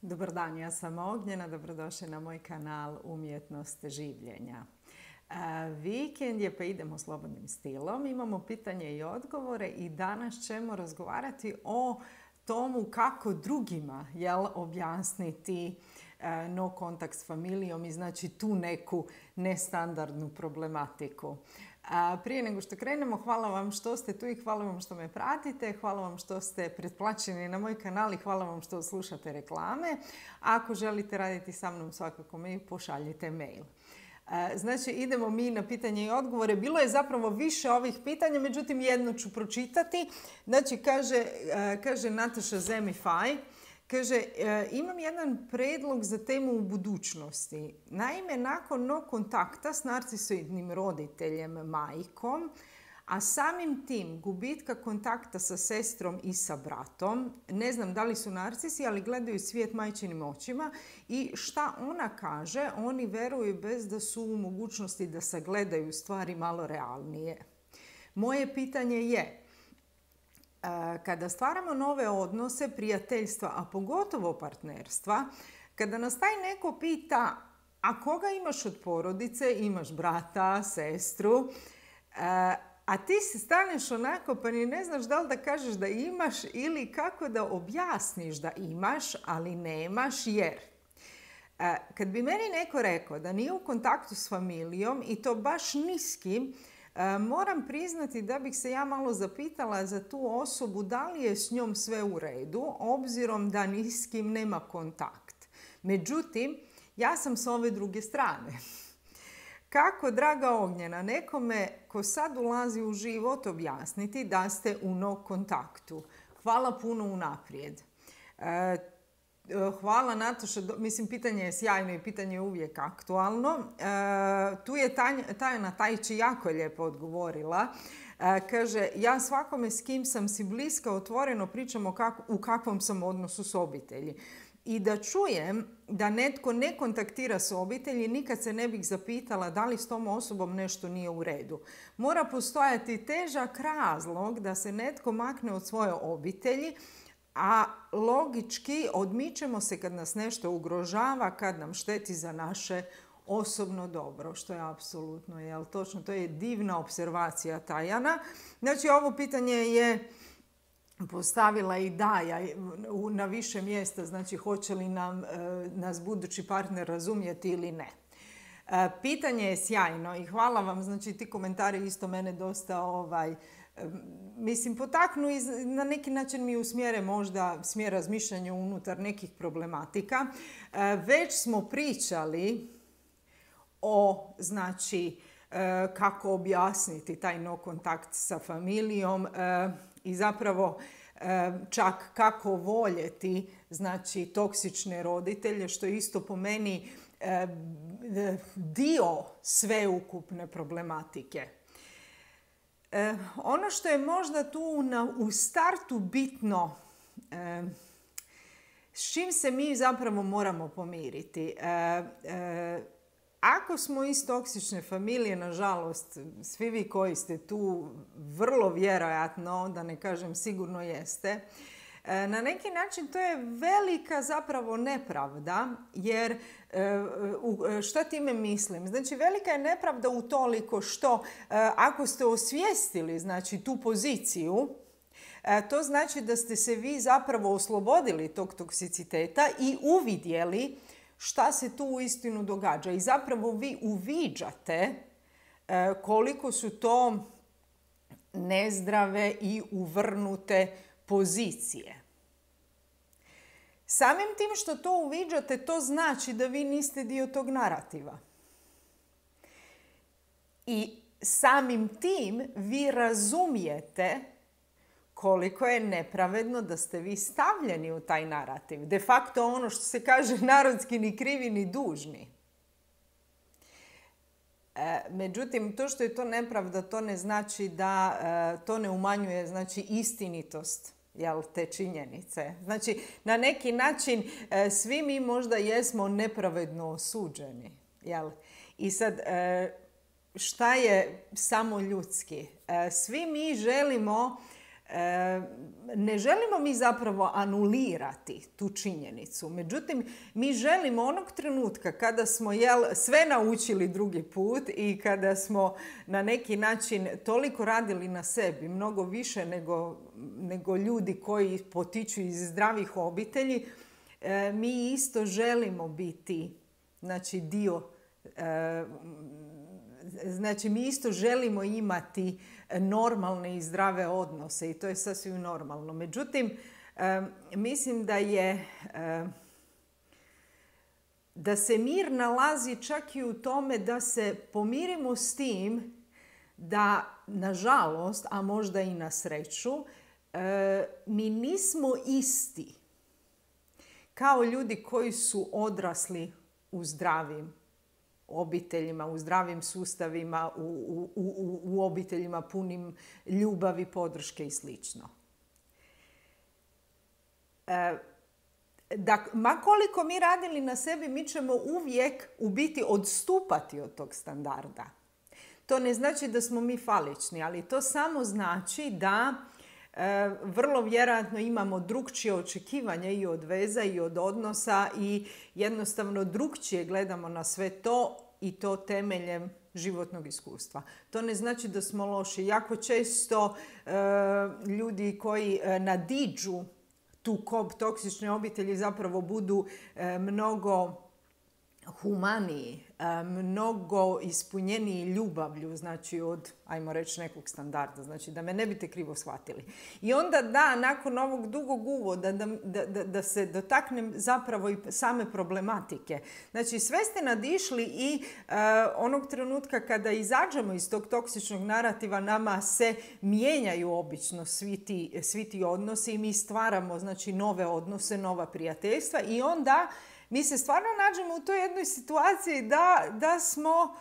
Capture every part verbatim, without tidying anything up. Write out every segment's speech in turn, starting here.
Dobar dan, ja sam Ognjena, dobrodošli na moj kanal Umjetnost življenja. Vikend je pa idemo slobodnim stilom, imamo pitanje i odgovore i danas ćemo razgovarati o tomu kako drugima jel, objasniti no kontakt s familijom i znači tu neku nestandardnu problematiku. A prije nego što krenemo, hvala vam što ste tu i hvala vam što me pratite, hvala vam što ste pretplaćeni na moj kanal i hvala vam što slušate reklame. Ako želite raditi sa mnom, svakako mi pošaljite mail. Znači, idemo mi na pitanje i odgovore. Bilo je zapravo više ovih pitanja, međutim jedno ću pročitati. Znači, kaže, kaže Nataša Zemifaj, kaže, imam jedan predlog za temu u budućnosti. Naime, nakon no kontakta s narcisoidnim roditeljem, majkom, a samim tim gubitka kontakta sa sestrom i sa bratom, ne znam da li su narcisi, ali gledaju svijet majčinim očima i šta ona kaže, oni veruju bez da su u mogućnosti da sagledaju stvari malo realnije. Moje pitanje je, kada stvaramo nove odnose, prijateljstva, a pogotovo partnerstva, kada nas taj neko pita a koga imaš od porodice, imaš brata, sestru, a ti se staneš onako pa ni ne znaš da li da kažeš da imaš ili kako da objasniš da imaš, ali nemaš jer. Kad bi meni neko rekao da nije u kontaktu s familijom i to baš niskim, moram priznati da bih se ja malo zapitala za tu osobu da li je s njom sve u redu, obzirom da ni s kim nema kontakt. Međutim, ja sam s ove druge strane. Kako, draga Ognjena, nekome ko sad ulazi u život objasniti da ste u no kontaktu? Hvala puno unaprijed. E, Hvala Nataša, mislim pitanje je sjajno i pitanje je uvijek aktualno. E, tu je Tajana Tajči jako lijepo odgovorila. E, kaže, ja svakome s kim sam si bliska otvoreno pričam o kak, u kakvom sam odnosu s obitelji. I da čujem da netko ne kontaktira s obitelji, nikad se ne bih zapitala da li s tom osobom nešto nije u redu. Mora postojati težak razlog da se netko makne od svoje obitelji, a logički odmičemo se kad nas nešto ugrožava, kad nam šteti za naše osobno dobro, što je apsolutno, jel točno, to je divna observacija Tajana. Znači, ovo pitanje je postavila i Daja na više mjesta, znači hoće li nam, nas budući partner razumjeti ili ne. Pitanje je sjajno i hvala vam, znači ti komentari isto mene dosta ovaj, mislim, potaknu i na neki način mi usmjere možda smjer razmišljanja unutar nekih problematika. Već smo pričali o, znači, kako objasniti taj no kontakt sa familijom i zapravo čak kako voljeti, znači, toksične roditelje, što je isto po meni dio sveukupne problematike. E, ono što je možda tu na, u startu bitno, e, s čim se mi zapravo moramo pomiriti. E, e, ako smo iz toksične familije, nažalost, svi vi koji ste tu vrlo vjerojatno, da ne kažem sigurno jeste, na neki način to je velika zapravo nepravda, jer šta time mislim? Znači, velika je nepravda utoliko što ako ste osvijestili, znači, tu poziciju, to znači da ste se vi zapravo oslobodili tog toksiciteta i uvidjeli šta se tu uistinu događa. I zapravo vi uviđate koliko su to nezdrave i uvrnute pozicije. Samim tim što to uviđate, to znači da vi niste dio tog narativa. I samim tim vi razumijete koliko je nepravedno da ste vi stavljeni u taj narativ. De facto ono što se kaže narodski ni krivi ni dužni. E, međutim, to što je to nepravda, to ne znači da e, to ne umanjuje, znači, istinitost, jel, te činjenice. Znači, na neki način e, svi mi možda jesmo nepravedno osuđeni. Jel? I sad, e, šta je samo ljudski? E, svi mi želimo Ne želimo mi zapravo anulirati tu činjenicu. Međutim, mi želimo onog trenutka kada smo jel, sve naučili drugi put i kada smo na neki način toliko radili na sebi, mnogo više nego, nego ljudi koji potiču iz zdravih obitelji, mi isto želimo biti znači, dio, znači mi isto želimo imati normalne i zdrave odnose i to je sasvim normalno. Međutim, mislim da je da se mir nalazi čak i u tome da se pomirimo s tim da, nažalost, a možda i na sreću, mi nismo isti kao ljudi koji su odrasli u zdravim obiteljima, u zdravim sustavima, u, u, u, u obiteljima punim ljubavi, podrške i slično. E, da, ma koliko mi radili na sebi, mi ćemo uvijek u biti odstupati od tog standarda. To ne znači da smo mi falični, ali to samo znači da e, vrlo vjerojatno imamo drukčije očekivanja i od veza i od odnosa i jednostavno drukčije gledamo na sve to i to temeljem životnog iskustva. To ne znači da smo loši. Jako često e, ljudi koji e, nadiđu tu kob toksične obitelji zapravo budu e, mnogo humaniji, mnogo ispunjeniji ljubavlju, znači od, ajmo reći, nekog standarda, znači da me ne biste krivo shvatili. I onda da, nakon ovog dugog uvoda, da, da, da se dotaknem zapravo i same problematike. Znači sve ste nadišli i uh, onog trenutka kada izađemo iz tog toksičnog narativa, nama se mijenjaju obično svi ti, svi ti odnosi i mi stvaramo znači nove odnose, nova prijateljstva i onda mi se stvarno nađemo u toj jednoj situaciji da, da smo,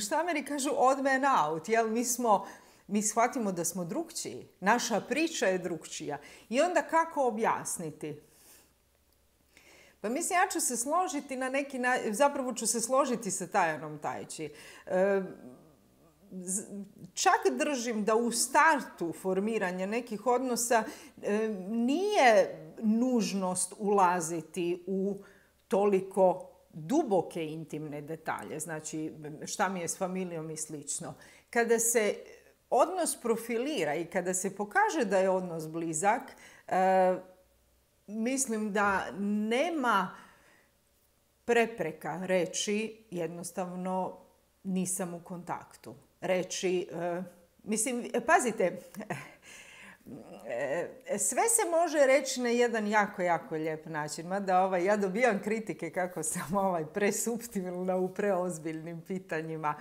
šta Ameri kažu, odd man out. Jel? Mi, smo, mi shvatimo da smo drukčiji. Naša priča je drukčija. I onda kako objasniti? Pa mislim, ja ću se složiti na neki način, zapravo ću se složiti sa Tajanom Tajči. E, čak držim da u startu formiranja nekih odnosa e, nije nužnost ulaziti u toliko duboke intimne detalje, znači šta mi je s familijom i slično. Kada se odnos profilira i kada se pokaže da je odnos blizak, e, mislim da nema prepreka reći jednostavno nisam u kontaktu. Reći, e, mislim, pazite, sve se može reći na jedan jako, jako lijep način. Mada ovaj, ja dobijam kritike kako sam ovaj, presuptilna u preozbiljnim pitanjima.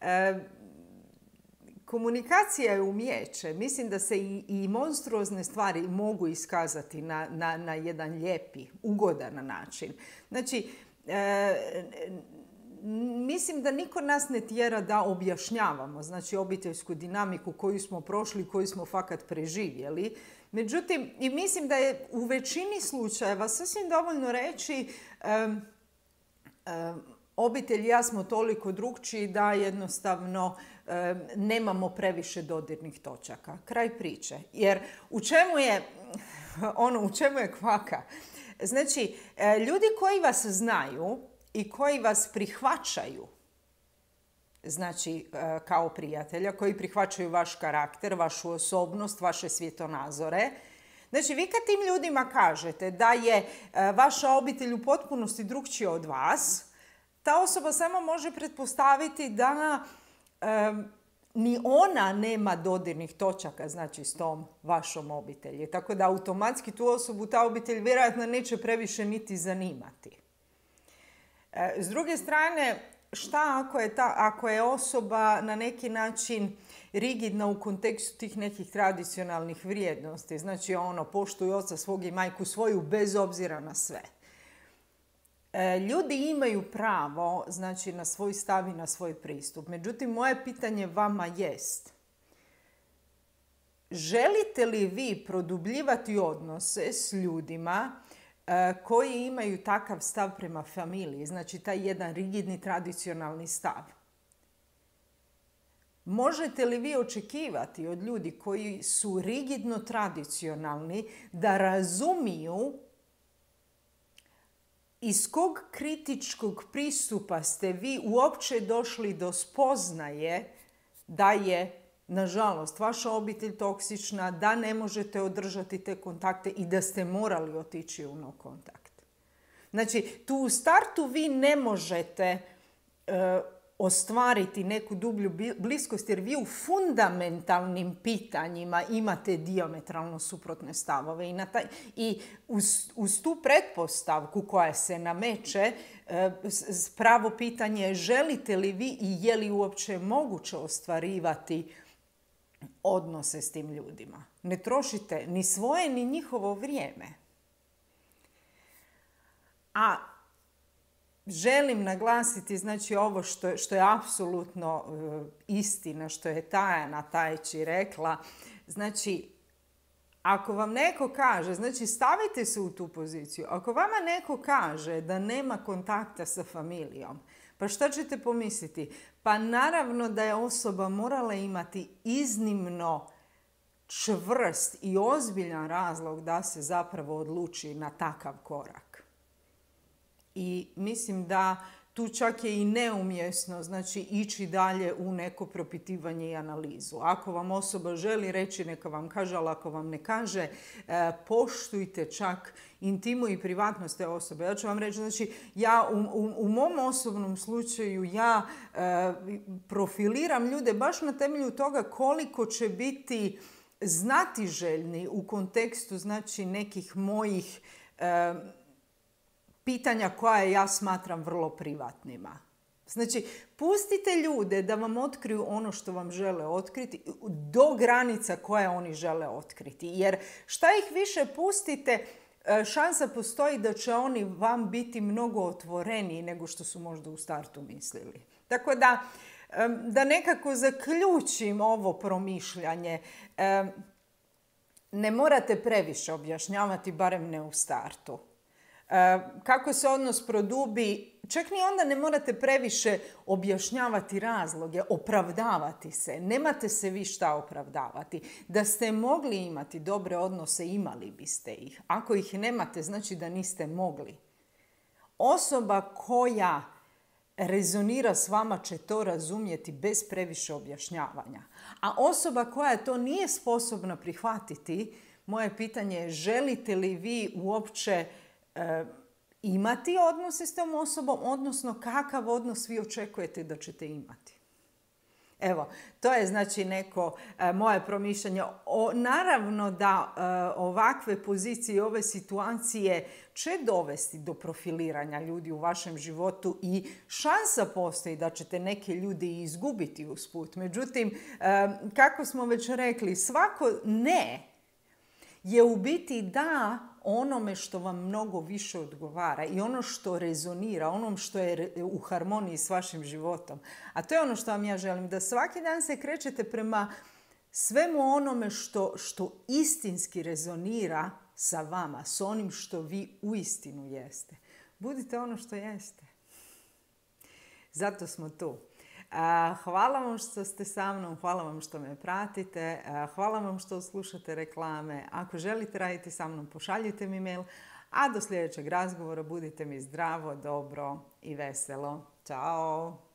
E, komunikacija je umijeće. Mislim da se i, i monstruozne stvari mogu iskazati na, na, na jedan lijepi, ugodan način. Znači, e, mislim da niko nas ne tjera da objašnjavamo, znači obiteljsku dinamiku koju smo prošli, koju smo fakat preživjeli. Međutim, i mislim da je u većini slučajeva sasvim dovoljno reći um, um, obitelj i ja smo toliko drukčiji da jednostavno um, nemamo previše dodirnih točaka. Kraj priče. Jer u čemu je, ono, u čemu je kvaka? Znači, ljudi koji vas znaju i koji vas prihvaćaju, znači kao prijatelja, koji prihvaćaju vaš karakter, vašu osobnost, vaše svjetonazore. Znači, vi kad tim ljudima kažete da je vaša obitelj u potpunosti drukčija od vas, ta osoba samo može pretpostaviti da um, ni ona nema dodirnih točaka, znači s tom vašom obitelji. Tako da automatski tu osobu ta obitelj vjerojatno neće previše niti zanimati. S druge strane, šta ako je, ta, ako je osoba na neki način rigidna u kontekstu tih nekih tradicionalnih vrijednosti? Znači, ono, poštuju oca svog i majku svoju bez obzira na sve. Ljudi imaju pravo, znači, na svoj stav i na svoj pristup. Međutim, moje pitanje vama jest, želite li vi produbljivati odnose s ljudima koji imaju takav stav prema familiji, znači taj jedan rigidni tradicionalni stav? Možete li vi očekivati od ljudi koji su rigidno tradicionalni da razumiju iz kog kritičkog pristupa ste vi uopće došli do spoznaje da je, nažalost, vaša obitelj toksična, da ne možete održati te kontakte i da ste morali otići u no kontakt. Znači, tu u startu vi ne možete uh, ostvariti neku dublju bliskost jer vi u fundamentalnim pitanjima imate dijametralno suprotne stavove i, na taj, i uz, uz tu pretpostavku koja se nameće pravo pitanje je želite li vi i je li uopće moguće ostvarivati odnose s tim ljudima. Ne trošite ni svoje ni njihovo vrijeme. A želim naglasiti, znači, ovo što, što je apsolutno uh, istina, što je Tajana Tajči rekla. Znači, ako vam neko kaže, znači stavite se u tu poziciju, ako vama neko kaže da nema kontakta sa familijom, pa šta ćete pomisliti? Pa naravno da je osoba morala imati iznimno čvrst i ozbiljan razlog da se zapravo odluči na takav korak. I mislim da tu čak je i neumjesno, znači, ići dalje u neko propitivanje i analizu. Ako vam osoba želi reći, neka vam kaže, ali ako vam ne kaže, poštujte čak intimu i privatnost te osobe. Ja ću vam reći, znači, ja u, u, u mom osobnom slučaju ja e, profiliram ljude baš na temelju toga koliko će biti znatiželjni u kontekstu, znači, nekih mojih e, pitanja koja ja smatram vrlo privatnima. Znači, pustite ljude da vam otkriju ono što vam žele otkriti do granica koje oni žele otkriti. Jer šta ih više pustite, šansa postoji da će oni vam biti mnogo otvoreniji nego što su možda u startu mislili. Tako da, da nekako zaključim ovo promišljanje, ne morate previše objašnjavati, barem ne u startu. Kako se odnos produbi, čak ni onda ne morate previše objašnjavati razloge, opravdavati se. Nemate se vi šta opravdavati. Da ste mogli imati dobre odnose, imali biste ih. Ako ih nemate, znači da niste mogli. Osoba koja rezonira s vama će to razumjeti bez previše objašnjavanja. A osoba koja to nije sposobna prihvatiti, moje pitanje je želite li vi uopće E, imati odnose s tom osobom, odnosno kakav odnos vi očekujete da ćete imati. Evo, to je znači neko e, moje promišljanje. O, naravno da e, ovakve pozicije i ove situacije će dovesti do profiliranja ljudi u vašem životu i šansa postoji da ćete neke ljude izgubiti usput. Međutim, e, kako smo već rekli, svako ne je u biti da onome što vam mnogo više odgovara i ono što rezonira, onom što je u harmoniji s vašim životom. A to je ono što vam ja želim, da svaki dan se krećete prema svemu onome što, što istinski rezonira sa vama, s onim što vi uistinu jeste. Budite ono što jeste. Zato smo tu. Hvala vam što ste sa mnom, hvala vam što me pratite, hvala vam što slušate reklame. Ako želite raditi sa mnom, pošaljite mi mail, a do sljedećeg razgovora budite mi zdravo, dobro i veselo. Ćao!